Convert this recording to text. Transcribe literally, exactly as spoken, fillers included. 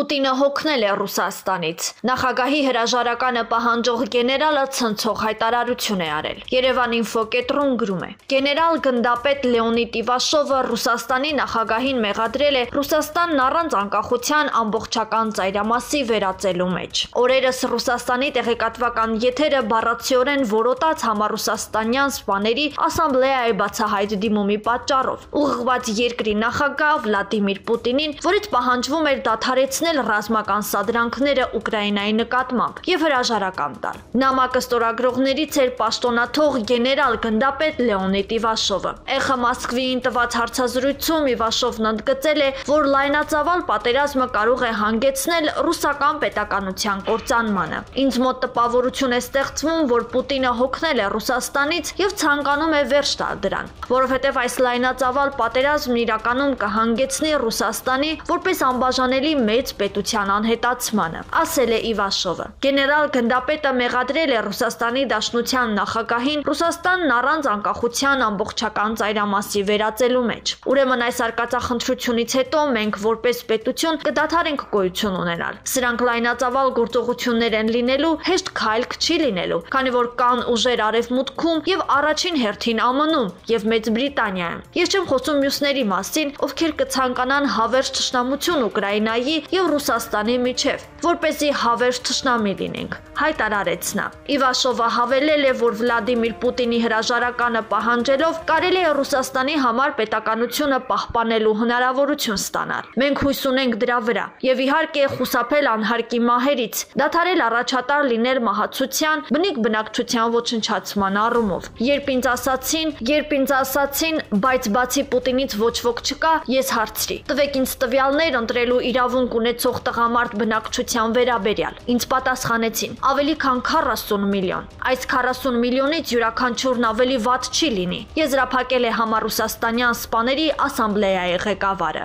Պուտինը հոգնել է Ռուսաստանից։ Նախագահի հրաժարականը պահանջող գեներալը ցնցող հայտարարություն է արել։ Երևան ինֆո կենտրոն գրում է. Գեներալ գնդապետ Լեոնիդ Իվաշովը Ռուսաստանի նախագահին մեղադրել է Ռուսաստանն առանց անկախության ամբողջական ծայրամասի վերածելու մեջ։ Օրերս Ռուսաստանի տեղեկատվական եթերը բառացիորեն որոտաց համառուսաստանյան սպաների ասամբլեայի բացահայտ դիմումի պատճառով։ Ուղղված երկրի նախագահ Վլադիմիր Պուտինին, որից պահանջվում էր դադարեցնել ռազմական սադրանքները Ուկրաինայի նկատմամբ եւ հրաժարական տալ։ Նամակը ստորագրողներից էր պաշտոնաթող գեներալ գնդապետ Լեոնիդ Իվաշովը։ ԷԽ Մոսկվիին տված հարցազրույցում Իվաշովն ընդգծել է, որ լայնածավալ պատերազմը կարող է հանգեցնել ռուսական պետականության կործանմանը։ Ինձ մոտ տպավորություն է ստեղծվում, որ Պուտինը հոգնել է Ռուսաստանից եւ ցանկանում է վերջ տալ դրան, որովհետեւ այս լայնածավալ պատերազմն իրականում կհանգեցնի Ռուսաստանի որպես անբաժանելի մեծ պետության անհետացմանը, ասել է Իվաշովը։ Գեներալ գնդապետը մեղադրել է Ռուսաստանի Դաշնության նախագահին Ռուսաստանն առանց անկախության ամբողջական ծայրամասի վերածելու մեջ։ Ուրեմն այս արկածախնդրությունից հետո մենք որպես պետություն կդադարենք գոյություն ունենալ։ Սրանք լայնածավալ գործողություններ են լինելու, հեշտ քայլ չի լինելու, քանի որ կան ուժեր արևմուտքում եւ առաջին հերթին ԱՄՆ-ում եւ Մեծ Բրիտանիայում։ Ես չեմ խոսում մյուսների մասին, ովքեր կցանկանան հավերժ թշնամություն Ուկրաինայի եւ Ռուսաստանի միջև, որպեսզի հավերժ թշնամի լինենք, հայտարարեց նա։ Իվաշովը հավելել է, որ Վլադիմիր Պուտինի հրաժարականը պահանջելով կարելի է Ռուսաստանի համար պետականությունը պահպանելու հնարավորություն ստանալ։ Մենք հույս ունենք դրա վրա եւ իհարկե խուսափել անհարկի մահերից, դադարել առաջատար լինել մահացության, բնիկ բնակչության ոչնչացման առումով։ Երբ ինձ ասացին, երբ ինձ ասացին, բայց բացի Պուտինից ոչ ոք չկա, ես հարցրի. տվեք ինձ տվյալներ ընտրելու իրավունք ունեցող տղամարդ բնակչության վերաբերյալ։ Ինձ պատասխանեցին. ավելի քան քառասուն միլիոն։ Այս քառասուն միլիոնից յուրաքանչյուրն ավելի վատ չի լինի, եզրափակել է համառուսաստանյան սպաների ասամբլեայի ղեկավարը։